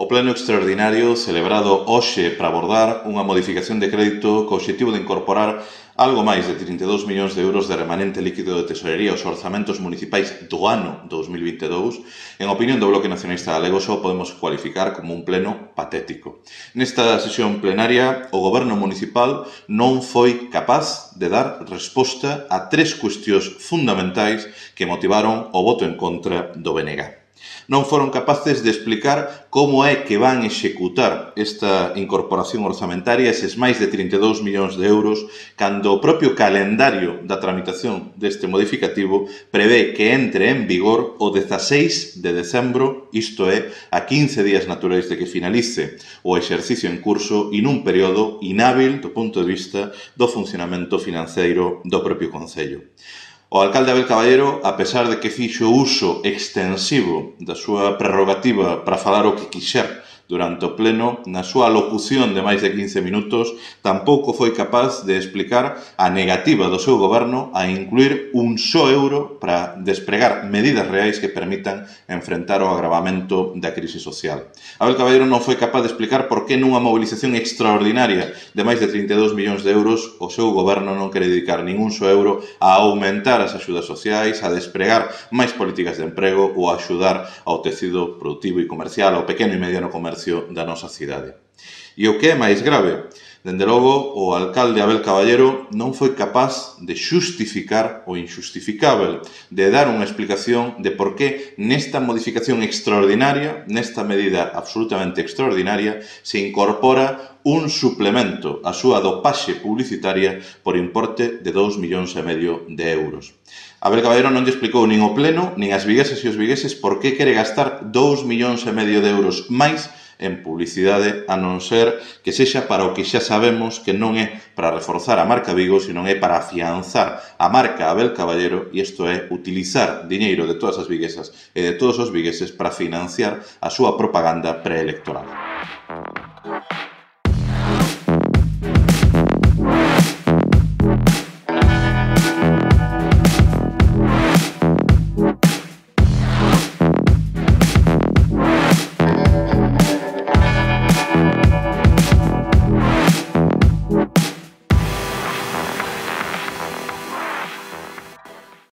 O pleno extraordinario celebrado hoxe para abordar unha modificación de crédito co obxectivo de incorporar algo máis de 32 millóns de euros de remanente líquido de tesorería aos orzamentos municipais do ano 2022, en opinión do Bloque Nacionalista Galego, só podemos cualificar como un pleno patético. Nesta sesión plenaria, o Goberno municipal non foi capaz de dar resposta a tres cuestións fundamentais que motivaron o voto en contra do BNG. Non foron capaces de explicar como é que van executar esta incorporación orzamentaria, eses máis de 32 millóns de euros, cando o propio calendario da tramitación deste modificativo prevé que entre en vigor o 16 de decembro, isto é, a 15 días naturais de que finalice o exercicio en curso e nun período inhábil do punto de vista do funcionamento financeiro do propio Concello. O alcalde Abel Caballero, a pesar de que fixo uso extensivo da súa prerrogativa para falar o que quixer durante o pleno, na súa locución de máis de 15 minutos, tampouco foi capaz de explicar a negativa do seu goberno a incluir un só euro para despregar medidas reais que permitan enfrentar o agravamento da crise social. Abel Caballero non foi capaz de explicar por que nunha mobilización extraordinaria de máis de 32 millóns de euros o seu goberno non quere dedicar ningún só euro a aumentar as axudas sociais, a despregar máis políticas de emprego ou a axudar ao tecido productivo e comercial, ao pequeno e mediano comercio da nosa cidade. E o que é máis grave, dende logo, o alcalde Abel Caballero non foi capaz de xustificar o inxustificável, de dar unha explicación de por que nesta modificación extraordinaria, nesta medida absolutamente extraordinaria, se incorpora un suplemento á súa dopaxe publicitaria por importe de 2,5 millóns de euros. Abel Caballero non lle explicou nin o pleno, nin as viguesas e os vigueses por que quere gastar 2,5 millóns de euros máis en publicidade, a non ser que sexa para o que xa sabemos que non é para reforzar a marca Vigo, sino é para afianzar a marca Abel Caballero, e isto é utilizar diñeiro de todas as viguesas e de todos os vigueses para financiar a súa propaganda preelectoral.